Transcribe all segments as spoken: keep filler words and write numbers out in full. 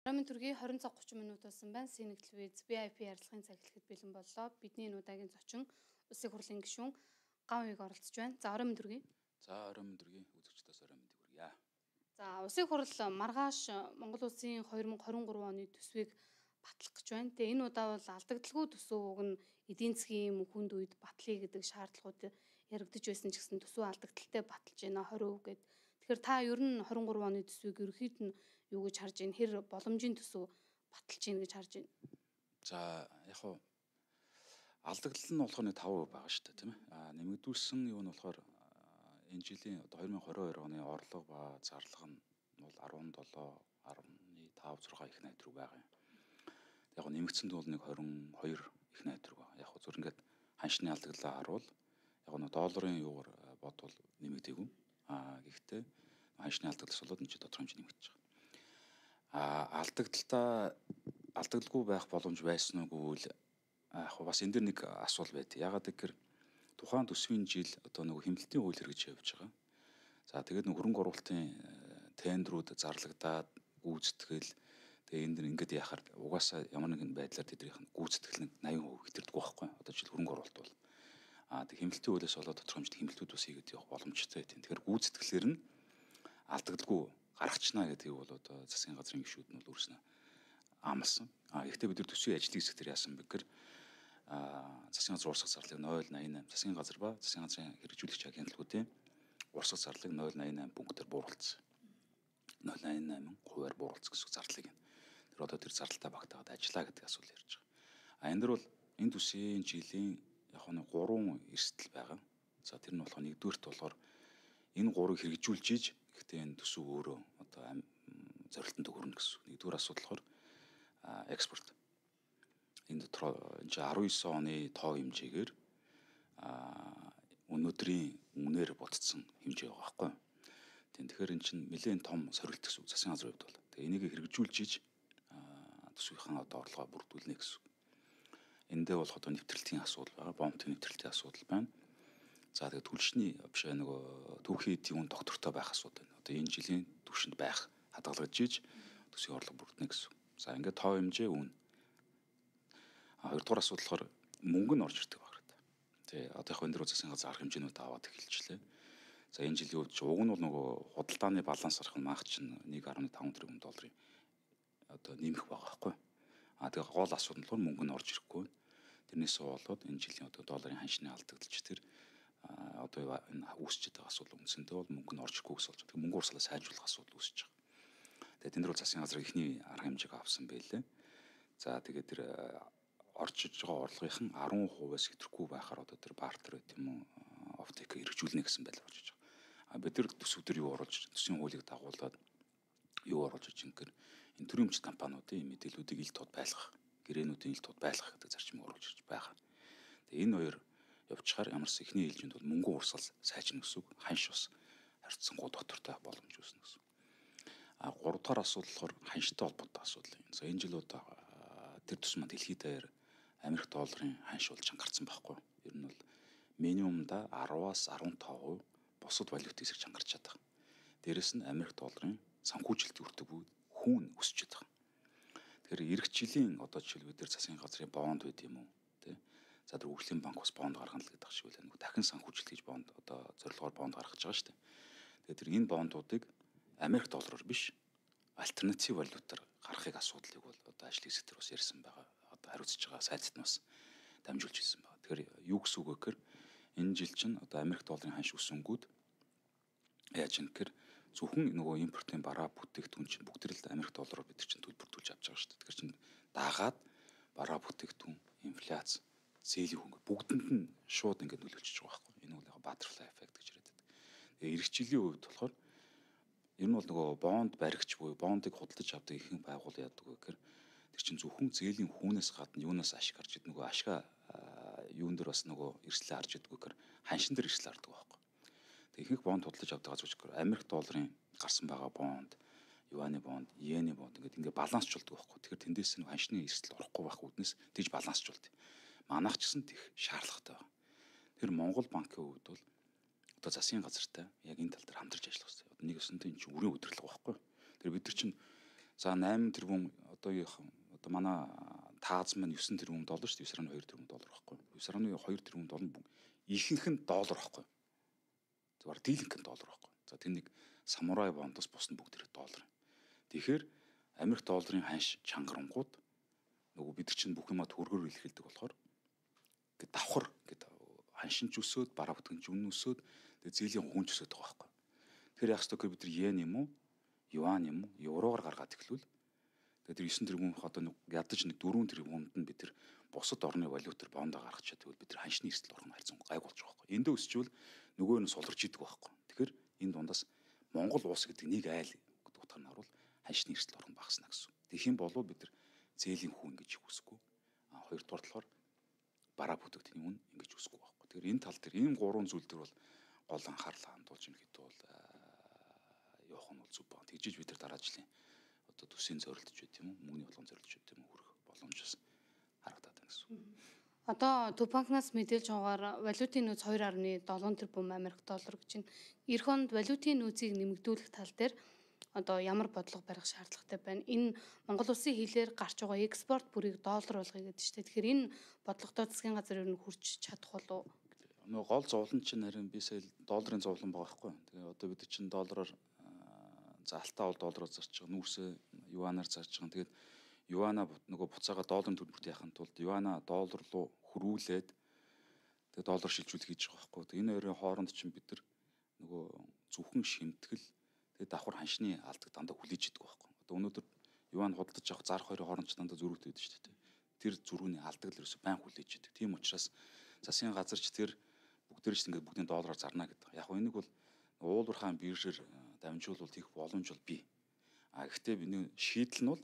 Ромын төргийн хорин цаг тридцать минут болсон байна. Сэнэгтэл виз ви ай пи ярилцлагын цаг эхлэхэд бэлэн боллоо. Бидний энэ удаагийн зочин Улсын хурлын гишүүн Ган Уяг оролцож байна. За Ромын төргийн. За Ромын төргийн үзэгчдээс Ромын төргийа. За Улсын хурл маргааш Монгол Улсын две тысячи двадцать три оны төсвийг батлах гэж байна. Тэгээ энэ удаа бол алдагдaltaгүй төсөв уг нь эдийн засгийн мөнхөнд үед батлая гэдэг шаардлагууд яригдж байсан ч гэсэн төсөв алдагдaltaй баталж байна двадцать percent гэд. Тэгэхээр та ер нь двадцать три оны төсвийг ерөөхдөө нь юу гэж харж байна? Хэр боломжийн төсөв баталж байна гэж харж байна? За яг хуу алдагдал нь болохоор нэг five percent байгаа шүү дээ, тийм ээ. А нэмэгдүүлсэн юу нь болохоор энэ жилийн одоо две тысячи двадцать two оны орлого ба зарлага нь бол seventeen, five, six их найдвар байгаа юм. Яг хуу нэмэгдсэнд бол нэг twenty-two их найдвар байгаа. Яг хуу зүр ингээд ханшны алдаглаа харуул яг нэг долларын юугаар бодвол нэмэгдээгүй. А гэхдээ ханшны алдагдлаас болоод энэ ч тодорхой хэмжээ нэмэгдэж байгаа. А алдагдaltaа алдагдaltaгүй байх боломж байсан уу гэвэл яг бас энэ дэр нэг асуул байд. Ягаад гэвэл тухайн төсвийн жил одоо нэг хэмнэлтийн хууль хэрэгжиж явж байгаа. За тэгээд нэг хөрөнгө оруулалтын тендерүүд зарлагдаад гүйцэтгэл тэгээ энэ дэр ингээд яхаар угаасаа ямар нэгэн байдлаар тэднийх нь гүйцэтгэл нэг eighty percent хэтэрдэг байхгүй. Одоо жишээл хөрөнгө оруулалт бол а тэг хэмнэлтийн хуулиас болоод тодорхой хэмжээний хэмнэлтүүд бас хийгээд явах боломжтой тийм. Тэгэхээр гүйцэтгэлээр нь алдагдaltaгүй гаргачнаа гэдгийг бол одоо засгийн газрын гишүүд нь бол өөрснөө амласан. А гэхдээ бид нар төсвийн ажлын хэсгээр яасан бэ гэхээр а засгийн газрын урсгал зарлыг zero eighty eight засгийн газар ба засгийн газрын хэрэгжүүлэгч агентлагуудын урсгал зарлыг zero eighty eight пунктээр бууруулсан. zero eighty eight хувиар бууруулсан гэсэн зарлыг нь. Тэр одоо тэр зарлалтаа багтаагаад ажиллаа гэдэг асуул ярьж байгаа. А энэ дөр бол энэ төсвийн жилийн яг нэг гурван эрсдэл байгаа. За тэр нь болохоор нэгдүгээрт болохоор энэ гурыг хэрэгжүүлж ийж гэхдээ энэ төсөв өөрөө одоо зорилтонд хүрнэ гэсэн. Нэгдүгээр асуудал болохоор экспорт. Энэ дотор энэ nineteen оны тоо хэмжээгээр өнөөдрийн үнээр бодцсон хэмжээ байгаа байхгүй. Тэгэхээр эн чинь нэлээд том сорилт гэсэн үг засгийн газрын хувьд бол. Тэгээ энийг хэрэгжүүлж ийж төсвийнхаа одоо орлогоо бүрдүүлнэ гэсэн. Эндээ болох одоо нэвтрэлтийн асуудал байгаа, бомбын нэвтрэлтийн асуудал байна. За тэгээд түлшний биш нөгөө түүхийн эдийн үн доктортой байх асуудал байна. Одоо энэ жилийн түвшинд байх хадгалагдж ийж төсвийн орлого бүрдэнэ гэсэн. За ингээд тоо хэмжээ үн. А хоёрдугаар асуудал болохоор мөнгө нь орж ирдэг баг гэдэг. Тэ одоо яг энэ дөрөв засгийн газар арга хэмжээнүүд аваад эхэлчихлээ. За энэ жилийн үед уг нь бол нөгөө худалдааны баланс арах нь маах чинь one point five тэрбум долларын одоо нэмэх байгаа байхгүй. А тэгээ гол асуудал нь болохоор мөнгө нь орж ирэхгүй. Тэрнээсээ болоод энэ жилийн одоо долларын ханшны алдагдaltaч тэр одоо энэ үүсчихэд байгаа асуудал үндсэндээ бол мөнгө нь орж ирэхгүй гэсэн болж. Тэгээ мөнгө урсгалаа сайжруулах асуудал үүсэж байгаа. Тэгээд энэ дөр бол засгийн газар ихний арга хэмжээг авсан байлээ. За тэгээд тэр орж иж байгаа орлогын ten percent-аас хэтрэхгүй байхаар одоо тэр бартер байт юм уу офтек хэрэгжүүлнэ гэсэн байдлаар орж иж байгаа. А бид нар төсөвдөр юу оруулж төсвийн хуулийг дагуулад юу оруулж иж ингээр энэ төрийн өмчт компаниудын мэдээллүүдийг ил тод байлгах, гэрээнүүдийн ил тод байлгах гэдэг зарчмыг оруулж иж байгаа. Тэгээ энэ хоёр явчихаар ямарс ихний ээлжинд бол мөнгө урсгал сайжирна гэсэн үг. Ханш бас харьцангуй доктортой боломж үүснэ гэсэн. А гурав дахь асуудал болохоор ханштай холбоотой асуудал юм. За энэ жил удаа тэр тусмаа дэлхийд даяар Америк долларын ханш бол чангарсан байхгүй. Ер нь бол минимумда ten-аас fifteen percent бусад валют эсрэг чангарч чадах. Дээрэс нь Америк долларын санхүүжилт өртөг буй хүүн өсч чадах. Тэгэхээр эх жилийн одоо жишээл бид нар засгийн газрын бонд байд юм уу тий. За тэр хөгжлийн банк бас бонд гаргана л гэдэг шиг байлаа. Нэг дахин санхүүжилт гэж бонд одоо зорилгоор бонд гаргаж байгаа шүү дээ. Тэгээд тэр энэ бондуудыг Америк доллараар биш альтернатив валютаар гаргахыг асуудлыг бол одоо ажлын хэсэг дээр бас ярьсан байгаа. Одоо хариуцж байгаа сайдд нь бас дамжуулж хэлсэн байна. Тэгэхээр юу гэсэн үг вэ гэхээр энэ жил чинь одоо Америк долларын ханш өсөнгүүд яаж юм гэхээр зөвхөн нөгөө импортын бараа бүтээгдэхүүн чинь бүгд л Америк доллараар бид чинь төлбөртүүлж авч байгаа шүү дээ. Тэгэхээр чинь дагаад бараа бүтээгдэхүүн, инфляц, зээлийн хөнгө бүгдэнд нь шууд ингээд нөлөөлчихөж байгаа байхгүй. Энэ бол яг butterfly effect гэж яриад байдаг. Тэгээ эх жилийн үед болохоор ер нь бол нөгөө бонд баригч буюу бондыг худалдаж авдаг ихэнх байгуул яадаг вэ гэхээр тэр чинь зөвхөн зээлийн хүүнээс гадна юунаас ашиг гарч идэг нөгөө ашгаа юун дээр бас нөгөө эрсдлээ харж идэг гэхээр ханшин дээр эрсдэл хардаг байхгүй. Тэг ихэнх бонд худалдаж авдаг гэж үзэхээр Америк долларын гарсан байгаа бонд, юаны бонд, йены бонд ингээд ингээд балансчулдаг байхгүй. Тэгэхээр тэндээс нь ханшны эрсдэл орохгүй байх үүднээс тийж балансчулдаг. Манайх ч гэсэн тех шаардлагатай байна. Тэр Монгол банкын хувьд бол одоо засгийн газартай яг энэ тал дээр хамтарч ажиллах хэрэгтэй. Одоо нэг өсөнтэй энэ чинь үрийн удирдлага байхгүй. Тэр бид нар чинь За восемь тэрбум одоогийн одоо манай тааз маань девять тэрбум доллар шүү дээ. девять тэрбум доллар байхгүй. девять тэрбум доллар ихэнх нь доллар байхгүй. Зүгээр дийлэнх нь доллар байхгүй. За тэр нэг самурай бондоос бус нь бүгд тэр доллар. Тэгэхээр Америк долларын ханш чангарангууд нөгөө бид чинь бүх юмаа төгрөгөөр илэрхийлдэг болохоор ингээд давхар ингээд ханшинч өсөөд бараа бүтгэнч үнэн өсөөд тэгээ зээлийн хүнч өсөөд байгаа байхгүй. Тэгэхээр яах ёстой гэхээр бид нар йен юм уу, юан юм уу, евроор гаргаад эхлүүл. Тэгээ тэр девять тэрбумынх одоо нэг ядаж нэг четыре тэрбумд нь бид тэр бусад орны валютаар бондоо гаргачаад тэгвэл бид нар ханшны эрсдэл орно хайцсан гайг болж байгаа байхгүй. Эндөө өсчвөл нөгөө нь суларч идэг байхгүй. Тэгэхээр энэ дундаас Монгол улс гэдэг нэг айл гэдэг утгаар нь харуул ханшны эрсдэл орно багасна гэсэн. Тэгэх юм бол бид нар зээлийн хүн гэж үсэхгүй. А хоёрдугаар талаар бараа бүтээгдэхүүний үн ингэж үсэхгүй байхгүй. Тэгэхээр энэ тал дээр ийм гурван зүйл дээр бол гол анхаарал хандуулж юм хэд бол явах нь бол зүг байна. Тэгжиж бид нар дараа жилийн одоо төсвийн зорилтж байт юм уу, мөнгөний болгон зорилтж байт юм уу хүрэх боломжос харагдаад байна гэсэн. Одоо Төв банкнаас мэдээлж байгаагаар валютын нөөц two point seven тэрбум Америк доллар гэж байна. Эх онд валютын нөөцийг нэмэгдүүлэх тал дээр одоо ямар бодлого барих шаардлагатай байна? Энэ Монгол улсын хилээр гарч байгаа экспорт бүрийг доллар болгоё гэдэг чинь. Тэгэхээр энэ бодлоготой засгийн газар юу хурч чадах болов? Нөгөө гол зовлон чинь харин би сая долларын зовлон байгаа байхгүй. Тэгээ одоо бид чинь доллараар за алтаа бол доллараар зарж байгаа, нүүрсээ юанаар зарж байгаа. Тэгээд юана нөгөө буцаага долларын төлбөрт яхахын тулд юана доллар руу хөрвүүлээд тэгээд доллар шилжүүлэх хийж байгаа байхгүй. Тэгээд энэ хоёрын хооронд чинь бид нар нөгөө зөвхөн шимтгэл тэгээд давхар ханшны алдаг дандаа хүлээж идэг байхгүй. Одоо өнөөдөр юан худалдаж авах зарах хоёрын хооронд ч дандаа зөрүүтэй байдаг шүү дээ. Тэр зөрүүний алдаг л ерөөсөй байн хүлээж идэг. Тийм учраас засгийн газар ч тэр бүгдээр ч ингээд бүгдийн доллараар зарна гэдэг. Яг нь энийг бол уулуурхаан биржээр дамжуулбал хийх боломж бол бий. А гэхдээ бидний шийдэл нь бол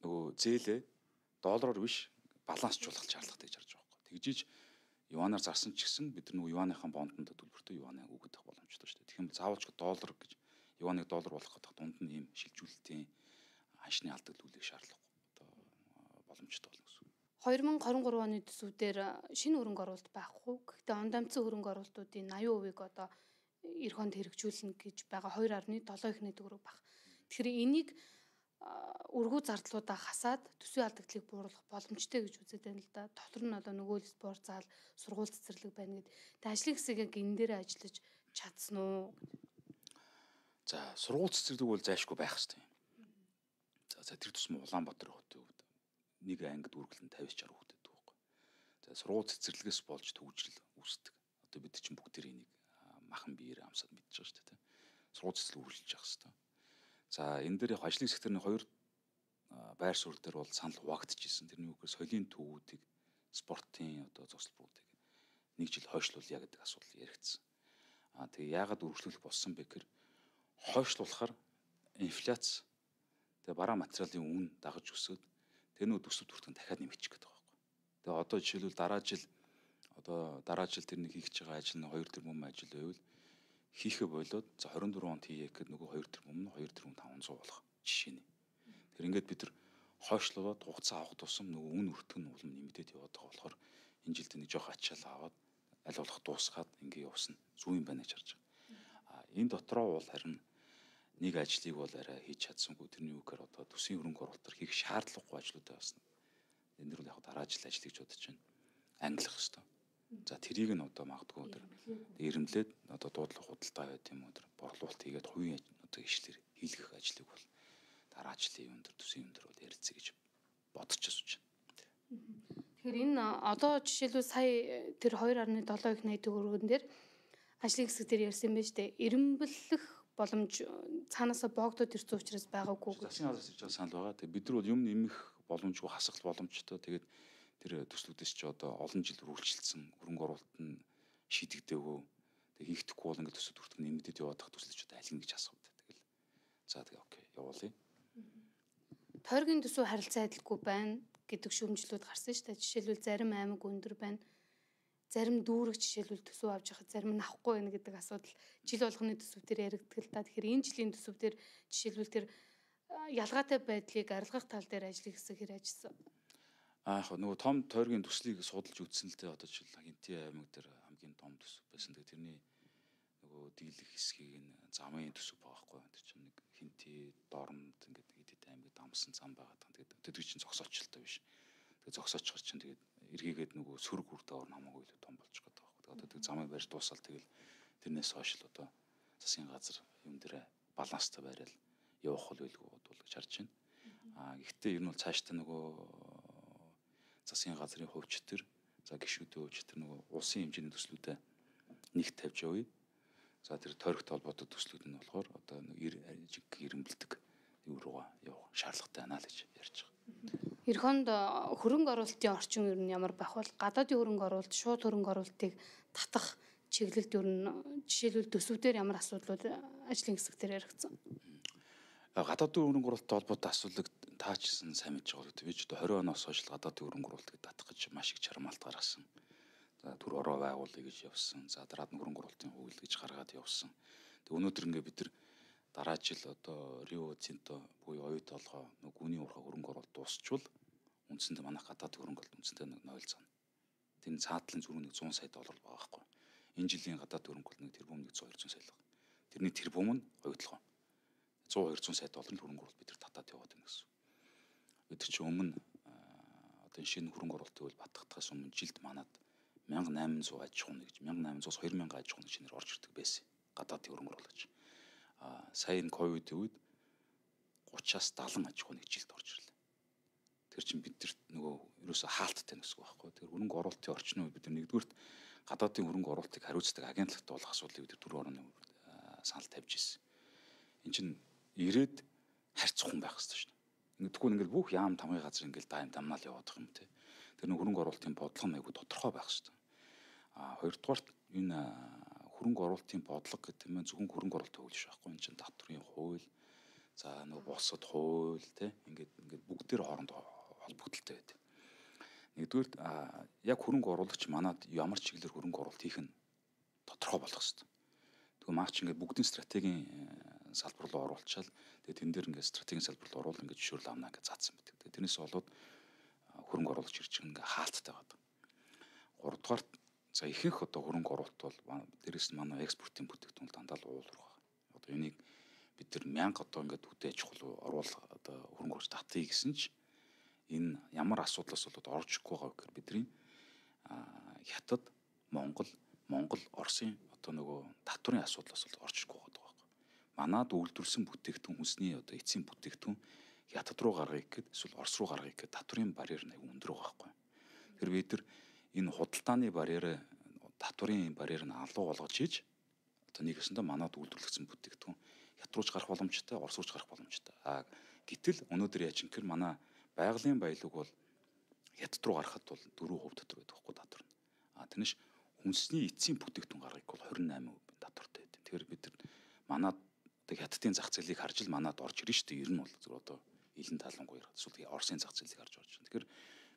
нөгөө зээлээ доллараар биш балансчлуулах шаардлагатай гэж харж байгаа байхгүй. Тэгжиж юанаар зарсан ч гэсэн бид нар нөгөө юаныхаа бондонд төлбөртөө юанаа өгөх боломжтой шүү дээ. Тэгэх юм бол заавалч доллар гэж юаныг доллар болгох гэдэг дунд нь ийм шилжүүлэлтийн ханшны алдагдлуулах шаардлага одоо боломжтой болно гэсэн. twenty twenty-three оны төсвүүдээр шинэ хөрөнгө оруулалт байхгүй. Гэхдээ онд амтсан хөрөнгө оруулалтуудын eighty percent-ийг одоо эх онд хэрэгжүүлнэ гэж байгаа two point seven ихний төгрөг баг. Тэгэхээр энийг өргүү зардлуудаа хасаад төсвийн алдагдлыг бууруулах боломжтой гэж үздэг байна л да. Дотор нь одоо нөгөө л спорт зал, сургууль цэцэрлэг байна гэдэг. Тэ ажлын хэсгийг энэ дээр ажиллаж чадсан уу? За сургууль цэцэрлэг бол зайшгүй байх хэрэгтэй. За за тэр тусмаа Улаанбаатар хотын хувьд нэг ангид үргэлэн fifty sixty хүүхэд байдаг байхгүй. За сургууль цэцэрлэгээс болж төвжрэл үүсдэг. Одоо бид чинь бүгд тэр энийг махан биеэр амсаад мэдчихэж байгаа шүү дээ. Сургууль цэцэрлэг үргэлжлэж явах хэрэгтэй. За энэ дээр яг ажлын секторын хоёр байр суурь дээр бол санал хуваагдчихсэн. Тэрний үгээр соёлын төвүүдийг спортын одоо зогсолбуудыг нэг жил хойшлуулъя гэдэг асуудал яригдсан. Аа тэгээ яагаад үргэлжлүүлэх болсон бэ гэхээр хойшлуулахаар инфляц тэгээ бараа материалын үн дагаж өсөд тэр нөө төсөв төртгөн дахиад нэмэгдэх гэдэг байгаа байхгүй. Тэгээ одоо жишээлбэл дараа жил одоо дараа жил тэр нэг хийж байгаа ажил нь two тэрбум ажил байвал хийхэ болоод за twenty-four онд хийе гэхэд нөгөө two тэрбум нь two тэрбум five hundred болох жишээ нь. Тэр ингээд бид нар хойшлуулаад хугацаа авах тусам нөгөө үн өртгөн нь улам нэмэгдээд яваад байгаа болохоор энэ жилд нэг жоох ачаал аваад аль болох дуусгаад ингээд явсан зүүн юм байна гэж харж байгаа. А энэ дотроо бол харин нэг ажлыг бол арай хийж чадсангүй тэрний үгээр одоо төсвийн хөрөнгө оруулалтаар хийх шаардлагагүй ажлуудаа басна. Энэ дэр бол яг дараа жил ажил гэж бодож байна. Англих хэвээр. За тэрийг нь одоо магадгүй тэр ирэмлээд одоо дуудлага худалдаа байт юм уу тэр борлуулалт хийгээд хувийн одоо ишлэр хийлгэх ажлыг бол дараа жилийн юм тэр төсвийн юм тэр бол ярилцъя гэж бодож асууж байна. Тэгэхээр энэ одоо жишээлбэл сая тэр two point seven их найддаг өргөн дээр ажлын хэсэг дээр ярьсан байж тээ эренблэх боломж цаанаасаа боогдоод ирсэн учраас байгаагүй. Засгийн газраас ирж байгаа санал байгаа. Тэгээ бид нар бол юм нэмэх боломжгүй хасах боломжтой. Тэгээд тэр төслүүдээс ч одоо олон жил үргэлжилсэн хөрөнгө оруулалт нь шийдэгдээгүй. Тэгээ хийхдэггүй бол ингээд төсөв төртгөн нэмэгдээд яваад тах төслөч одоо аль нэг ч асуув. Тэгэл за тэгээ окей явуулъя. Тойргийн төсөв харилцаа адилгүй байна гэдэг шүүмжлүүд гарсан шүү дээ. Жишээлбэл зарим аймаг өндөр байна. Зарим дүүрэг жишээлбэл төсөв авч яхад зарим нь авахгүй байна гэдэг асуудал жил болгоны төсөв дээр яригддаг л да. Тэгэхээр энэ жилийн төсөв дээр жишээлбэл тэр ялгаатай байдлыг арилгах тал дээр ажлын хэсэг хэр ажилласан. Аа яг нөгөө том тойргийн төслийг судалж үзсэн л дээ одоо жишээл Хинтээ аймаг дээр хамгийн том төсөв байсан. Тэгээ тэрний нөгөө дийлэх хэсгийг нь замын төсөв байгаа хгүй. Тэр чинь нэг Хинтээ, Дорнод ингээд идэд аймаг дамсан зам байгаад байгаа. Тэгээд тэд чинь зогсоочтой биш. Тэгээд зогсооч гар чинь тэгээд эргээгээд нөгөө сөрөг хүрдээ орно хамаагүй л том болж байгаа байхгүй. Тэгээд одоо тэг замыг барьж дуусаад тэгэл тэрнээс хойш л одоо засгийн газар юм дээр баланстай байрал явах хол байлгүй бол гэж харж байна. Аа гэхдээ ер нь бол цаашдаа нөгөө засгийн газрын хувьч төр за гишүүдийн хувьч төр нөгөө улсын хэмжээний төслүүдэд нэгт тавьж явъя. За тэр тойрогт холбоотой төслүүд нь болохоор одоо жиг ирэмбэлдэг юу руугаа явах шаардлагатай байна л гэж ярьж байгаа. Эх хонд хөрөнгө оруулалтын орчин ер нь ямар байх вэ? Гадаадын хөрөнгө оруулалт, шууд хөрөнгө оруулалтыг татах чиглэлд ер нь жишээлбэл төсвүүдээр ямар асуудлууд ажлын хэсэг дээр яригдсан? Гадаадын хөрөнгө оруулалттай холбоотой асуудлыг таачсан сайн мэдж байгаа гэдэг. Би ч одоо двадцать оноос хойш гадаадын хөрөнгө оруулалтыг татах гэж маш их чармаалт гаргасан. За түр ороо байгуулъя гэж явсан. За дараад нь хөрөнгө оруулалтын хууль гэж гаргаад явсан. Тэг өнөөдөр ингээ бид нар дараа жил одоо Рио Цинто буюу оюут толгой нэг гүний урхаа хөрөнгө оруулалт дуусчвал үндсэндээ манайх гадаадын хөрөнгө оруулалт үндсэндээ нэг ноль цана. Тэр цаатлын зүрх нэг сто сая доллар байгаа байхгүй. Энэ жилийн гадаадын хөрөнгө оруулалт нэг тэрбум нэг сто двести сая л байгаа. Тэрний тэрбум нь оюут толгой. сто двести сая долларын хөрөнгө оруулалт бид нар татаад яваад байна гэсэн. Бид нар чи өмнө одоо шинэ хөрөнгө оруулалтын хууль батгахтаас өмнө жилд манад one thousand eight hundred аж ахуйн гэж one thousand eight hundred-аас two thousand аж ахуйн шинээр орж ирдэг байсан. Гадаадын хөрөнгө оруулагч. Аа сая энэ ковидын үед thirty-аас seventy аж ахуйн жилд орж ирлээ. Тэр чинь бидэрт нөгөө ерөөсө хаалттай гэсэн үг байхгүй. Тэр хөрөнгө оруулалтын орчныг бид нар нэгдүгürt гадаадын хөрөнгө оруулалтыг хариуцдаг агентлагт болох асуудлыг бид түр орны санал тавьж ирсэн. Энд чинь ирээд харьцахгүй байх хэрэгтэй шүү дээ. Ингээд тэгвэл ингээд бүх яам тамгын газар ингээд дайм дамнаал яваад байгаа юм те. Тэр нэг хөрөнгө оруулалтын бодлого нь айгүй тодорхой байх хэрэгтэй. А хоёрдугаарт энэ хөрөнгө оруулалтын бодлого гэдэг нь зөвхөн хөрөнгө оруулалтын хууль биш байхгүй. Энэ чинь татврын хууль, за нөгөө босод хууль те ингээд ингээд бүгдээр хоорондоо холбогдолтой байдаг. Нэгдүгээр яг хөрөнгө оруулагч манад ямар чиглэлээр хөрөнгө оруулалт хийх нь тодорхой болох хэрэгтэй. Тэгвэл маач ингээд бүгдийн стратегийн салбар руу оруулчаал тэгээ тэн дээр ингээд стратегийн салбар руу оруул ингээд жишүүл авна ингээд заасан байдаг. Тэгээ тэрнээс болоод хөрөнгө оруулагч ирж ингээд хаалттай байдаг. Гуравдугаарт за ихэнх одоо хөрөнгө оруулалт бол дээрэс нь манай экспортын бүтээгдэхүүн дандаа л уулуурах байна. Одоо энийг бид нар мянга одоо ингээд үдэ аж ахуй оруулах одоо хөрөнгө оруулалт татъя гэсэн ч энэ ямар асуудлаас болоод орж ирэхгүй байгаа гэхээр бидний Хятад, Монгол, Монгол, Оросын одоо нөгөө татврын асуудлаас бол орж ирэхгүй байгаа байхгүй. Манад үйлдвэрлэсэн бүтээгдэхүүн хүнсний одоо эцсийн бүтээгдэхүүн Хятад руу гаргахыг гээд эсвэл Орос руу гаргахыг гээд татврын барьер нь аюу өндөр байгаа байхгүй. Тэр бид нар энэ худалдааны барьер, татврын барьер нь алуу болгож хийж одоо нэгэсэндээ манад үйлдвэрлэгдсэн бүтээгдэхүүн Хятад руу ч гарах боломжтой, Орос руу ч гарах боломжтой. А гэтэл өнөөдөр яаж юм гэхээр манай байгалийн баялаг бол Хятад руу гарахад бол four percent дотор байдаг хгүй татвар нь. А тэрнэш хүнсний эцсийн бүтээгдэхүүн гаргахыг бол twenty-eight percent татвартай байдаг. Тэгэхээр бид нар манад одоо Хятадын зах зээлийг харж л манад орж ирнэ шүү дээ. Ер нь бол зөв одоо илэн талангуй эсвэл Оросын зах зээлийг харж орж ирнэ. Тэгэхээр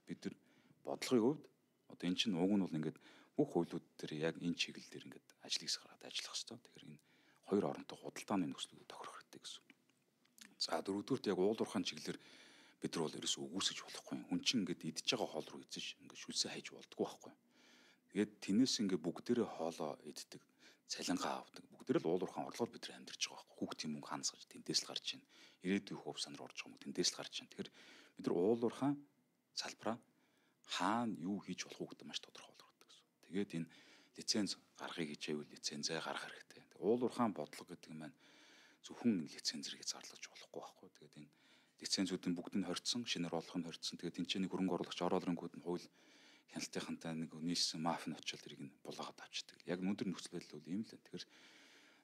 бид нар бодлогын хувьд одоо эн чинь уг нь бол ингээд бүх хуулиуд дээр яг энэ чиглэл дээр ингээд ажил хийх гараад ажиллах хэрэгтэй. Тэгэхээр энэ хоёр оронтой худалдааны нөхцөлүүд тохирох хэрэгтэй гэсэн. За дөрөвдүгürt яг уулуурхаан чиглэлээр бид нар бол ерөөсөө үгүйсэж болохгүй. Хүн чинь ингээд идж байгаа хоол руу эзэж ингээд шүлсээ хайж болдгоо байхгүй. Тэгээд тэрнээс ингээд бүгдээрээ хоолоо иддэг, цалингаа авдаг. Бүгдээрээ л уулуурхаан орлогоор бид нар амьдарч байгаа байхгүй. Хүүхдийн мөнгө хаанаас гарч тэндээс л гарч байна. Ирээдүйн хөв санаар орж байгаа юм тэндээс л гарч байна. Тэгэхээр бид нар уулуурхаан салбараа хаана юу хийж болох уу гэдэг маш тодорхой болгох гэдэг гэсэн. Тэгээд энэ лиценз гаргахыг хичээвэл лицензээ гаргах хэрэгтэй. Уулуурхаан бодлого гэдэг нь маань зөвхөн лицензэрийг зарлаж болохгүй байхгүй. Тэгээд энэ лицензүүдийн бүгд нь хоригдсон, шинээр олох нь хоригдсон. Тэгээд тэнцээний хөрөнгө оруулагч оролронгууд нь хууль хяналтынхантай нэг нийлсэн мафийн очил тэрийг нь булаагаад авчдаг. Яг өнөөдөр нөхцөл байдал бол ийм л. Тэгэхээр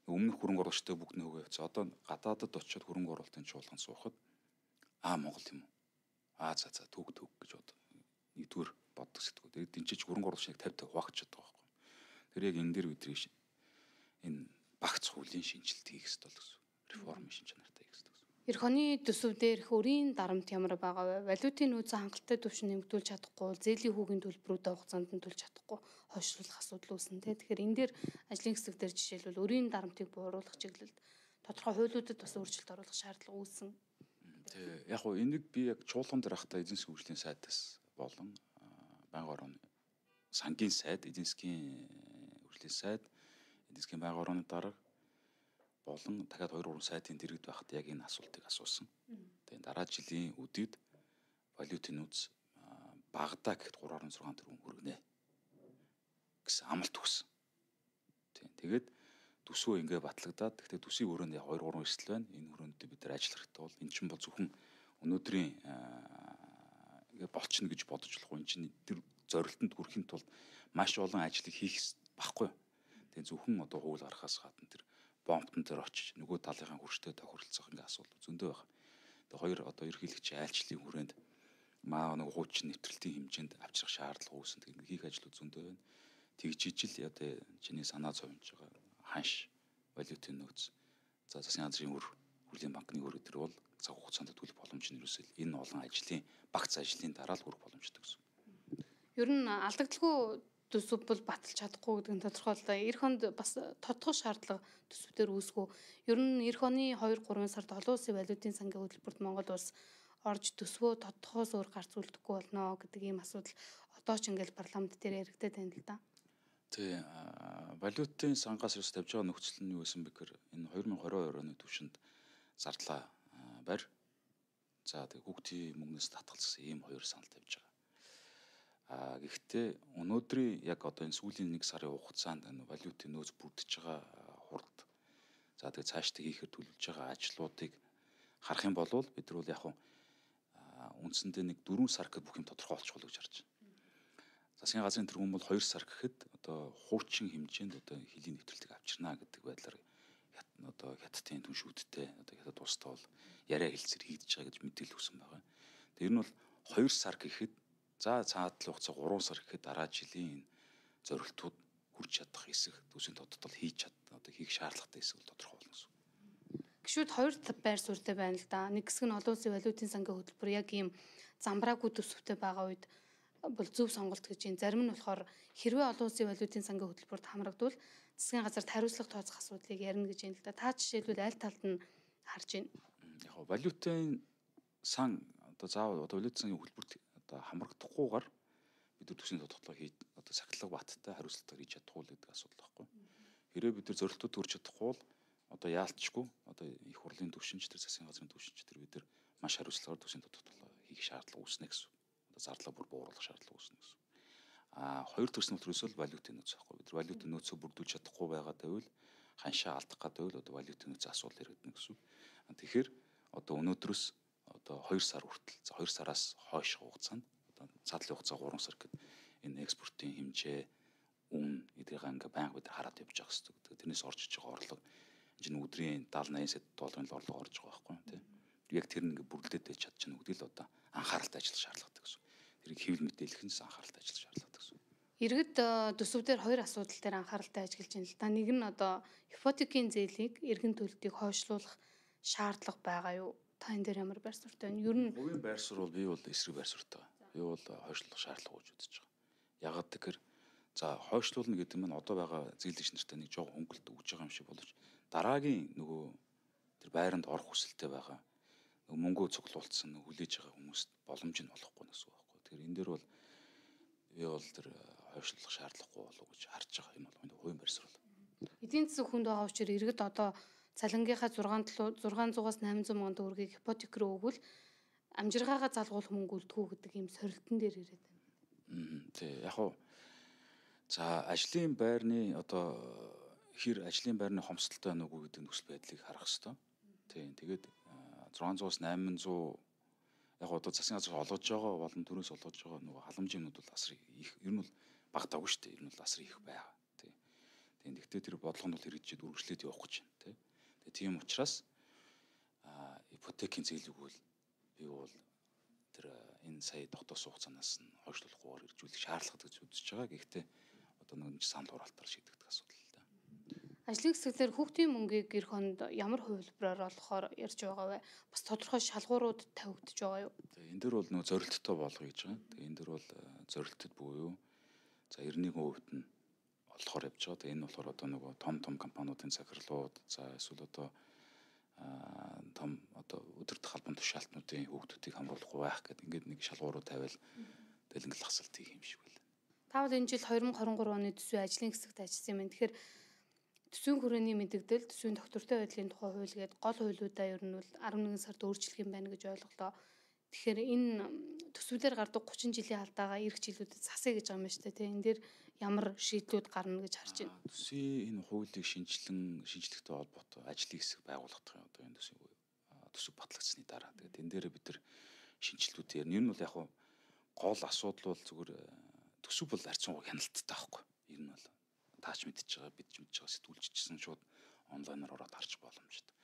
өмнөх хөрөнгө оруулагчтай бүгд нь хөвөө явцсан. Одоо гадаадд очиод хөрөнгө оруулалтын чуулганд суухад аа Монгол юм уу? Аа за за төг төг гэж бод. Нэгдүгээр боддог сэтгүү. Тэгээд тэнцээч хөрөнгө оруулагчийг fifty хуваагдчихад байгаа байхгүй. Тэр яг энэ дээр бидний энэ багц хуулийн шинжилт хийх хэрэгтэй л гэсэн. Реформын шинж чанартай хийх хэрэгтэй. Эх оны төсөвдөр их өрийн дарамт ямар байгаа вэ? Валютын нөөцийн хангалттай түвшин нэмэгдүүлж чадахгүй, зээлийн хүүгийн төлбөрүүд хугацаанд нь төлж чадахгүй хойшлуулах асуудал үүснэ. Тэгэхээр энэ дээр ажлын хэсэг дээр жишээлбэл өрийн дарамтыг бууруулах чиглэлд тодорхой хуулиудад бас өөрчлөлт оруулах шаардлага үүсэн. Тэг. Яг гоо энийг би яг чуулган дээр ахта эзэн засгийн хөгжлийн сайдаас болон байнгын орны сангийн сайд, эзэн засгийн хөгжлийн сайд, эзэн засгийн байнгын орны дарга болон дахиад хоёр гурван сайтын дэргэд байхад яг энэ асуултыг асуусан. Тэгээд дараа жилийн үдийд валютын нөөц багадаа гэхэд три нугдугаар sáu тэрбум хүргэнэ гэсэн амлалт өгсөн. Тийм. Тэгээд төсвөө ингээ батлагдаад гэхдээ төсвийн өрөөнд яг хоёр гурван эрсдэл байна. Энэ өрөөнд бид нар ажиллах хэрэгтэй бол эн чинь бол зөвхөн өнөөдрийн ингээ болчихно гэж бодож болохгүй. Эн чинь тэр зорилтонд хүрэхин тулд маш олон ажлыг хийх баггүй. Тэгээ зөвхөн одоо хууль гаргахаас гадна тэр бомбтон дээр очиж нөгөө талынхаа хүрштэй тохиролцох ингээ асуудал зөндөө байна. Тэгээ хоёр одоо ерөнхийлөгчийн айлчлалын хүрээнд маа нэг хуучин нэвтрэлтийн хэмжээнд авчрах шаардлага үүсэн. Тэгээ хийх ажлууд зөндөө байна. Тэгжижил одоо чиний санаа зовж байгаа ханш валютын нөөц за засгийн газрын өр хөрлийн банкны өр өдр бол цаг хугацаанд төлөх боломж нь ерөөсөө энэ олон ажлын багц ажлын дараа л хүрэх боломжтой гэсэн. Ер нь алдагдaltaгүй төсөв бол баталж чадахгүй гэдэг нь тодорхойлоо. Эх хонд бас тодтох шаардлага төсвүүдээр үүсгүү. Ер нь эх оны хоёр гурван сард олон улсын валютын сангийн хөтөлбөрт Монгол улс орж төсвөө тодтохоос өөр гарц үлдэхгүй болно гэдэг ийм асуудал одоо ч ингээл парламент дээр яригдаад байна л да. Тий, валютын сангаас ерөөс тавьж байгаа нөхцөл нь юу байсан бэ гэхээр энэ хоёр мың и двадцать оны түвшинд зардлаа барь. За тэг хүүхдийн мөнгнөөс татгалзсан ийм хоёр санал тавьж байгаа. А гэхдээ өнөөдрийн яг одоо энэ сүүлийн нэг сарын хугацаанд энэ валютын нөөц бүрдэж байгаа хурд за тэг цаашдаа хийхээр төлөвлөж байгаа ажлуудыг харах юм бол бид нар бол яг үндсэндээ нэг дөрвөн сар гэхэд бүх юм тодорхой болчих болов гэж харж байна. Засгийн газрын тэргүүн бол хоёр сар гэхэд одоо хуучин хэмжээнд одоо хилийн нэвтрэлтийг авчирна гэдэг байдлаар одоо хятадын түншүүдтэй одоо хятад улстай бол яриа хэлцэр хийгдэж байгаа гэж мэдээлэл өгсөн байгаа. Тэр нь бол хоёр сар гэхэд за цаадлын хугацаа гурван сар гэхэд дараа жилийн энэ зорилтууд хүрч чадах эсэх төсвийн тодтол хийж чад одоо хийх шаардлагатай эсэх бол тодорхой болно гэсэн. Гişүүд хоёр байр суурьтай байна л да. Нэг хэсэг нь олон улсын валютын сангийн хөтөлбөр яг ийм замбраагүй төсөвтэй байгаа үед бол зөв сонголт гэж юм. Зарим нь болохоор хэрвээ олон улсын валютын сангийн хөтөлбөрт хамрагдвал засгийн газарт хариуцлага тооцох асуудлыг ярина гэж юм л да. Та жишээлбэл аль талд нь харж байна? Яг валютын сан одоо заавал одоо валютын сангийн хөтөлбөрт одоо хамрагдахгүйгээр бид нар төсвийн тодтолгоо хийж одоо сахилга баттай хариуцлагатай хийж чадахгүй л гэдэг асуудал байхгүй. Хэрвээ бид нар зорилтууд хүрч чадахгүй бол одоо яалтчгүй одоо их хурлын төвшинч тэр засгийн газрын төвшинч тэр бид нар маш хариуцлагаар төсвийн тодтолгоо хийх шаардлага үүснэ гэсэн. Одоо зардлаа бүр бууруулах шаардлага үүснэ гэсэн. А хоёр төрсөн төрөөсөө л валютын нөөц байхгүй. Бид нар валютын нөөцөө бүрдүүлж чадахгүй байгаа байвал ханшаа алдах гэдэг байвал одоо валютын нөөц асуудал иргэдэнэ гэсэн. Тэгэхээр одоо өнөөдрөөс одоо хоёр сар хүртэл за хоёр сараас хойш хугацаанд одоо цаатлын хугацаа гурван сар гэдэг энэ экспортын хэмжээ үн эдгээрээ ингээ байнга бид хараад явж байгаа хэрэгтэй. Тэрнээс орж иж байгаа орлого энэ өдрийн даатгалын восемь сая долларын орлого орж байгаа байхгүй тийм. Яг тэр нэг бүрдээд байж чадчихна үгдэл одоо анхааралтай ажиллах шаардлагатай гэсэн. Тэрийг хэвлэл мэдээлэх нь анхааралтай ажиллах шаардлагатай гэсэн. Иргэд төсөвдөр хоёр асуудал дээр анхааралтай ажиллаж байна л да. Нэг нь одоо ипотекийн зээлийг эргэн төлөлтийг хойшлуулах шаардлага байгаа юу? Та энэ дээр ямар байр суурьтай байна? Ер нь хувийн байр суурь бол би бол эсрэг байр суурьтай. Би бол хойшлуулах шаардлага гэж үзэж байгаа. Ягаад гэхээр за хойшлуулна гэдэг нь одоо байгаа зээлэгч нартай нэг жоо хөнгөлт өгж байгаа юм шиг боловч дараагийн нөгөө тэр байранд орох хүсэлтэй байгаа нөгөө мөнгөө цуглуулсан нөгөө хүлээж байгаа хүмүүст боломж нь олохгүй гэсэн үг байхгүй. Тэгэхээр энэ дээр бол би бол тэр хойшлуулах шаардлагагүй болов гэж харж байгаа. Энэ бол миний хувийн байр суурь. Эдийн засаг хүнд байгаа учраас иргэд одоо цалингийнхаа зургаан зугаас восемь сая мянган төгрөгийг ипотек рүү өгвөл амжиргаагаа залгуулах мөнгө үлдэхүү гэдэг ийм сорилтон дээр ирээд байна. Аа тий яг уу за ажлын байрны одоо хэр ажлын байрны хомсдолтой байна уу гэдэг нөхцөл байдлыг харах хэрэгтэй. Тийм тэгээд шесть сая-аас восемь сая яг одоо засгийн газар олгож байгаа болон төрөөс олгож байгаа нөгөө халамжийн юмнууд бол асар их ер нь бол багтаагүй шүү дээ. Ер нь бол асар их байгаа. Тийм. Тийм гэхдээ тэр бодлого нь бол хэрэгжиж үргэлжлээд явах гэж байна. Тийм. Тэгээ тийм учраас а ипотекийн зээлийг бол би бол тэр энэ сая дотоос хугацаанаас нь хойшлуулахгүйгээр иржүүлэх шаардлагатай гэж үзэж байгаа. Гэхдээ одоо нэг санал хураалтаар шийдэгдэх асуудал л да. Ажлын хэсгээр хүүхдийн мөнгийг эх хонд ямар хувилбараар олохоор ярьж байгаа вэ? Бас тодорхой шалгуурууд тавигдж байгаа юу? Тэгээ энэ дэр бол нөө зорилттой болгоё гэж байгаа. Тэгээ энэ дэр бол зорилтод буюу за эртний хувьд нь олохоор явж байгаа. Тэгээ энэ болохоор одоо нөгөө том том компаниудын захирлууд за эсвэл одоо том одоо өдөртөх албан тушаалтнуудын хүүхдүүдийг хамруулахгүй байх гэдэг ингээд нэг шалгуурууд тавиал дэлгэнгэл хасалт хийх юм шиг байна. Та бол энэ жил two thousand twenty-three оны төсвийн ажлын хэсэгт ажилласан юм. Тэгэхээр төсвийн хүрээний мэдэгдэл, төсвийн доктортой байдлын тухай хууль гээд гол хуулиудаа ер нь бол арван нэгэн сард өөрчлөх юм байна гэж ойлголоо. Тэгэхээр энэ төсвүүдээр гардаг гучин жилийн алдаагаа эх жилүүдэд засъя гэж байгаа юм байна шүү дээ. Энэ дээр ямар шийдлүүд гарна гэж харж байна. Төсвийн энэ хуулийг шинжилэн шинжлэхтэй холбоотой ажлын хэсэг байгуулагдах юм одоо энэ төсвийн төсөв батлагдсны дараа. Тэгээд энэ дээр бид нар шинжилтүүдээр нь ер нь бол яг хуу гол асуудал бол зүгээр төсөв бол харьцангуй хяналттай байхгүй. Ер нь бол таач мэдчихэж байгаа, бид ч мэдчихэж байгаа сэтгүүлчсэн шууд онлайнаар ороод харж боломжтой.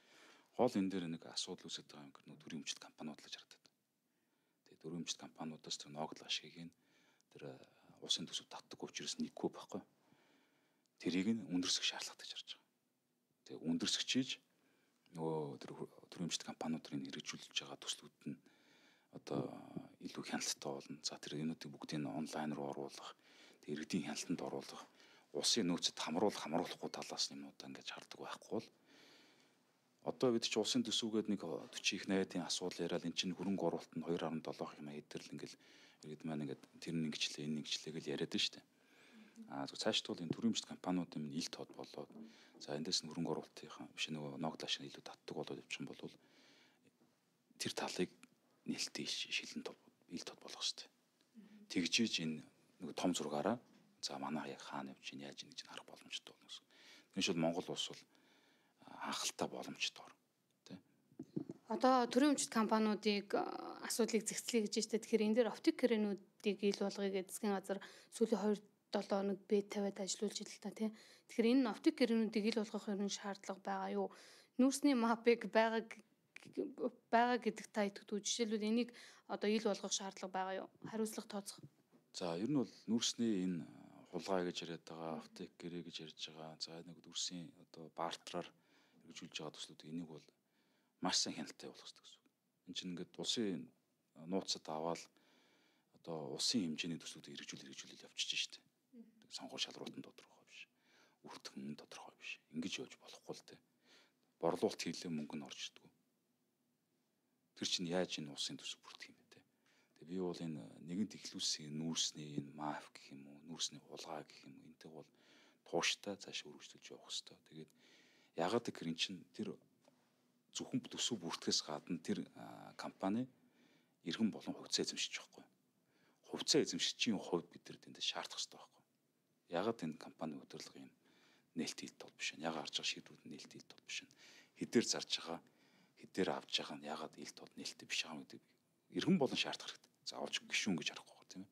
Гол энэ дээр нэг асуудал үүсэж байгаа юм гэр төрийн өмчт компаниуд л харагдаад. Тэгээд төрийн өмчт компаниудаас тэр ногдол ашгийг нь тэр улсын төсөв татдаг учраас нэггүй байхгүй. Тэрийг нь өндөрсөх шаардлагатай гэж харж байгаа. Тэгээд өндөрсгчиж нөгөө тэр төрийн өмчт компаниудын хэрэгжүүлж байгаа төслүүд нь одоо илүү хяналттай болно. За тэр энүүдийг бүгдийг онлайн руу оруулах, тэр иргэдийн хяналтанд оруулах, улсын нөөцөд хамруулах, хамруулахгүй талаас юмудаа ингэж хардаг байхгүй бол одоо бид чи улсын төсөвгээд нэг forty их найдын асуудал яриад эн чинь хөрөнгө оруулалт нь two point seven их юм эдгэрл ингээл иргэд маань ингээд тэр нэг ингэчлээ энэ ингэчлээ гэж яриад нь штэ. Аа цаашд бол энэ төрийн өмчт компаниудын ил тод болоод за эндээс нь хөрөнгө оруулалтынхаа биш нөгөө ногдол ашиг илүү татдаг болоод явчих юм бол тэр талыг нээлттэй шилэн тод ил тод болгох штэ. Тэгжиж энэ нэг том зургаараа за манайх яг хаана явж чинь яаж ингэж харах боломжтой болно гэсэн. Тэгвэл шууд Монгол улс бол анхалтай боломжтой ор. Тэ. Одоо төрийн өмчт компаниудыг асуудлыг зэгцлэе гэж байна. Тэгэхээр энэ дээр оптик гэрээнүүдийг ил болгоё гэж засгийн газар сүүлийн two seven хоног бэд тавиад ажиллуулж ил л та тий. Тэгэхээр энэ оптик гэрээнүүдийг ил болгох юм шаардлага байгаа юу? Нүүрсний мапыг байгаа байгаа гэдэг та итгэдэг. Жишээлбэл энийг одоо ил болгох шаардлага байгаа юу? Хариуцлага тооцох. За ер нь бол нүүрсний энэ хулгай гэж яриад байгаа, аптек гэрээ гэж ярьж байгаа. За нэг дүрсийн одоо бартраар хэрэгжүүлж байгаа төслүүд энийг бол маш сайн хяналттай явуулах хэрэгтэй гэсэн. Энд чинь ингээд улсын нууцад аваад одоо улсын хэмжээний төслүүдийг хэрэгжүүл хэрэгжүүлэл явчихж штэ. Сонгуул шалралтанд тодорхой биш. Үртгэн тодорхой биш. Ингэж явж болохгүй л дээ. Борлуулалт хийлээ мөнгө нь орж ирдэг. Тэр чинь яаж энэ улсын төсөв бүрдэх юм бэ те. Тэгээ би бол энэ нэгэнт ихлүүлсийн нүүрсний энэ маф гэх юм уу, нүүрсний хулгай гэх юм уу энтэй бол тууштай цааш өргөжлөж явах хэрэгтэй. Тэгээд ягаад гэхээр эн чинь тэр зөвхөн төсөв бүртгэхээс гадна тэр компани иргэн болон хувьцаа эзэмшиж байгаа байхгүй. Хувьцаа эзэмшигчийн хувьд бид нар тэндээ шаардах хэрэгтэй байхгүй. Ягаад энэ компани удирдлага юм нээлт хийлт бол биш нь. Ягаад харж байгаа шийдвүүд нь нээлт хийлт бол биш нь. Хэдээр зарж байгаа, хэдээр авж байгаа нь ягаад нээлт бол нээлттэй биш байгаа гэдэг иргэн болон шаардах хэрэгтэй. Заавалж гişүүн гэж харахгүй байна тийм ээ.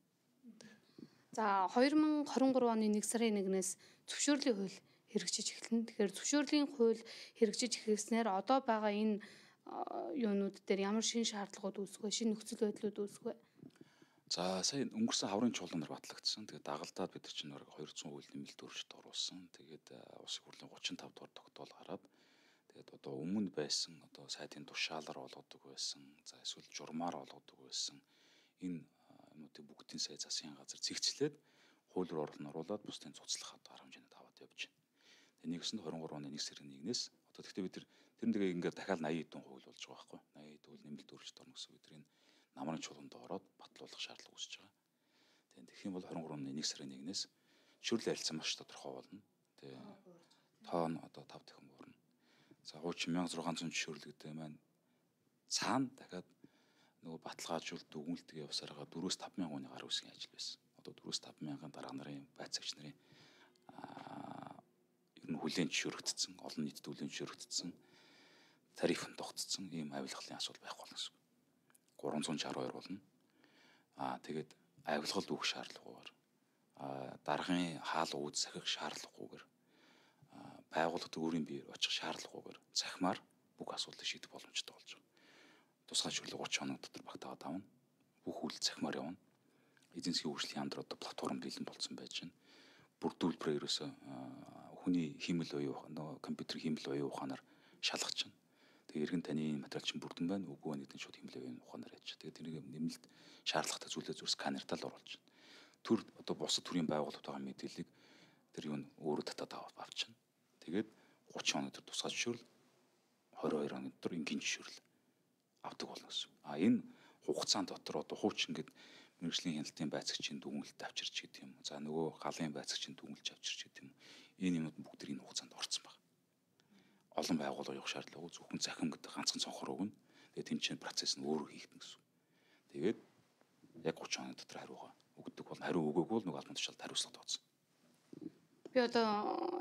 За twenty twenty-three оны нэг сарын нэгнээс зөвшөөрлийн хууль хэрэгжиж эхэлнэ. Тэгэхээр зөвшөөрлийн хууль хэрэгжиж эхэлснээр одоо байгаа энэ юунууд дээр ямар шин шаардлагууд үүсэх вэ? Шин нөхцөл байдлууд үүсэх вэ? За сая өнгөрсөн хаврын чуулганаар батлагдсан. Тэгээд дагалдаад бид чинь two hundred хууль нэмэлт өөрчлөлт оруулсан. Тэгээд улсын хурлын thirty-five дугаар тогтоол гараад тэгээд одоо өмнө байсан одоо сайдын тушаалаар олгодог байсан. За эсвэл журмаар олгодог байсан. Энэ юмнуудыг бүгдийн сая засгийн газар цэгцлээд хууль руу оруулаад бусдын цуцлах одоо арга хэмжээнд аваад явж байна. Тэгээд нэгсэн twenty-three оны нэг сарын нэгнээс одоо тэгтээ бид тэр тэрнээ ингээд дахиад eighty хэдэн хууль болж байгаа байхгүй. eighty хэдэн хууль нэмэлт өөрчлөлт орно гэсэн бид энэ намрын чуулганд ороод батлуулах шаардлага үүсэж байгаа. Тэгээд тэгэх юм бол twenty-three оны нэг сарын нэгнээс шүрлийн харилцаа маш тодорхой болно. Тэгээд тоон одоо five дахин буурна. За хуучин sixteen hundred жишөөрлөгтэй маань цаана дахиад нөгөө баталгаажуулт дүгнэлтгээ явсараа four-five thousand оны гар үсгийн ажил байсан. Одоо four-five thousand дарга нарын байцаагч нарын аа ер нь хүлээн зөвшөөрөгдсөн, олон нийтэд хүлээн зөвшөөрөгдсөн тариф нь тогтцсон ийм авилгалын асуудал байхгүй болно гэсэн. three sixty-two болно. Аа тэгээд авилгалд өгөх шаардлагагүйгээр аа даргын хаал ууд сахих шаардлагагүйгээр байгууллагад өөрийн биеэр очих шаардлагагүйгээр цахимаар бүх асуудлыг шийдэх боломжтой болж байгаа. Тусгай шүрлэг thirty хоног дотор багтаагаад авна. Бүх үйл цахимаар явна. Эзэн засгийн хөгжлийн яамд одоо платформ бэлэн болсон байж байна. Бүрдүүлбэрээ ерөөсөө хүний хиймэл оюун нөгөө компьютер хиймэл оюун ухаанаар шалгаж байна. Тэгээ иргэн таны материал чинь бүрдэн байна. Үгүй байна гэдэг нь шууд хиймэл оюун ухаанаар яаж. Тэгээ тэрийг нэмэлт шаардлагатай зүйлээ зүрс сканертаа л оруулж байна. Төр одоо бусад төрлийн байгууллагууд байгаа мэдээллийг тэр юу н өөрөө татаад авчихна. Тэгээд thirty хоног төр тусгай зөвшөөрөл twenty-two хоног төр энгийн зөвшөөрөл авдаг болно гэсэн. А энэ хугацаанд дотор одоо хууч ингээд мэрэгжлийн хяналтын байцаагчийн дүгнэлт авчирч гэдэг юм. За нөгөө галын байцаагчийн дүгнэлт авчирч гэдэг юм. Энэ юмуд бүгд энэ хугацаанд орсон байна. Олон байгууллага явах шаардлагагүй зөвхөн захим гэдэг ганцхан цонхоор өгнө. Тэгээд тэмцээн процесс нь өөрөө хийгдэнэ гэсэн. Тэгээд яг гурван хоног дотор хариугаа өгдөг бол хариу өгөөгүй бол нөгөө албан тушаалд хариуцлага тооцсон. Би одоо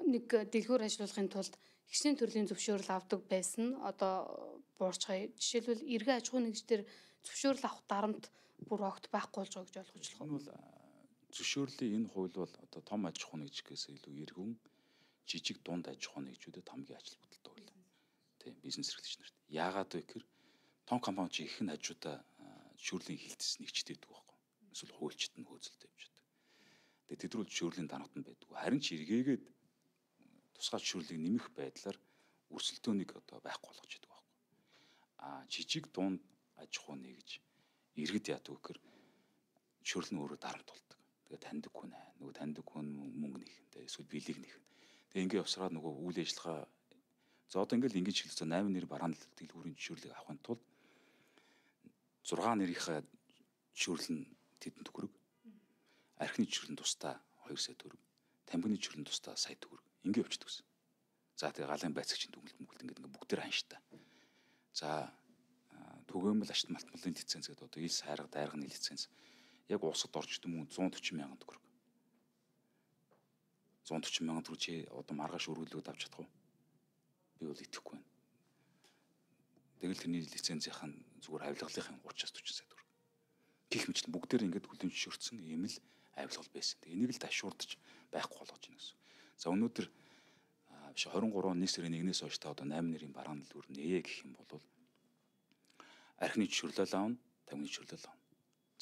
нэг дэлгүүр ажиллуулахын тулд хичнээн төрлийн зөвшөөрөл авдаг байсан. Одоо буурчгаа. Жишээлбэл эргэн аж ахуй нэгжээр зөвшөөрөл авах дарамт бүр огт байхгүй болж байгаа гэж ойлгож болох нь бол зөвшөөрлийн энэ хууль бол одоо том аж ахуй нэгжгээс илүү эргэн жижиг дунд аж ахуй нэгжүүдэд хамгийн ажил бодолтой хууль. Тийм бизнес эрхлэгч нарт. Яагаад вэ гэхээр том компани чи их н хажуудаа зөвшөөрлийн хилтэс нэгжтэй байдаг байхгүй. Эсвэл хуульчид нь хөөцөлтэй явж байдаг. Тэгээд тэд рүү зөвшөөрлийн дарамт нь байдаг. Харин ч эргээгээд тусгай зөвшөөрлийг нэмэх байдлаар өрсөлдөөнийг одоо байхгүй болгож байдаг байхгүй. А жижиг дунд аж ахуй нэгж иргэд яадаг гэхээр зөвшөөрөл нь өөрөө дарамт болдог. Тэгээд таньдаг хүн аа нөгөө таньдаг хүн мөнгө нэхэнтэй эсвэл билег нэхэн. Тэгээд ингээ явсараад нөгөө үйл ажиллагаа за одоо ингээл ингэж хэлсэн восемь нэр барааны дэлгүүрийн зөвшөөрлийг авахын тулд сix нэрийнхээ зөвшөөрөл нь тэдэнд төгрөг. Архины зөвшөөрөл нь тусдаа two сая төгрөг. Тамхины зөвшөөрөл нь тусдаа сая төгрөг. Ингээ явчихдаг гэсэн. За тэгээ галын байцаагчийн дүгнэлт мөнгөлт ингээд ингээ бүгдээр ханштай. За түгээмэл ашт малтмалын лиценз гэдэг одоо ил сайрга дайрганы лиценз яг улсад орж идэм хүн one forty мянган төгрөг. one forty мянган төгрөг чи одоо маргааш өргөлөөд авч чадах уу? Би бол итгэхгүй байна. Тэгэл тэрний лицензийнх нь зүгээр авилгалынхын thirty-аас forty сая төгрөг. Гэх мэтлэн бүгдээр ингээд хүлэн зөвшөөрсөн ийм л авилгал байсан. Тэгээ энийг л ташуурдаж байхгүй болгож байна гэсэн. За өнөөдөр биш twenty-three оны сарын нэгнээс хойш та одоо eight нэрийн барааны дэлгүүр нээе гэх юм бол архины зөвшөөрлөө аавна, тамхины зөвшөөрлөө аавна.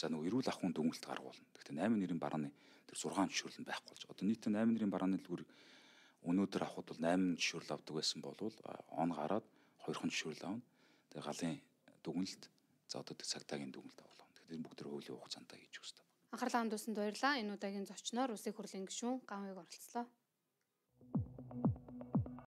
За нөгөө эрүүл ахуйн дүгнэлт гаргуулна. Гэхдээ eight нэрийн барааны тэр six зөвшөөрөл нь байхгүй болж. Одоо нийтдээ eight нэрийн барааны дэлгүүр өнөөдөр авахд бол eight зөвшөөрөл авдаг байсан бол он гараад two зөвшөөрөл аавна. Тэгээ галын дүгнэлт за одоо цагтаагийн дүгнэлт авах. Тэгэхээр бүгд хуулийн хугацаанд хийж өгсөн. Анхаарлаа хандуулсанд баярлалаа. Энэ удаагийн зочноор Улсын хурлын гишүүн Ганвыг оролцлоо.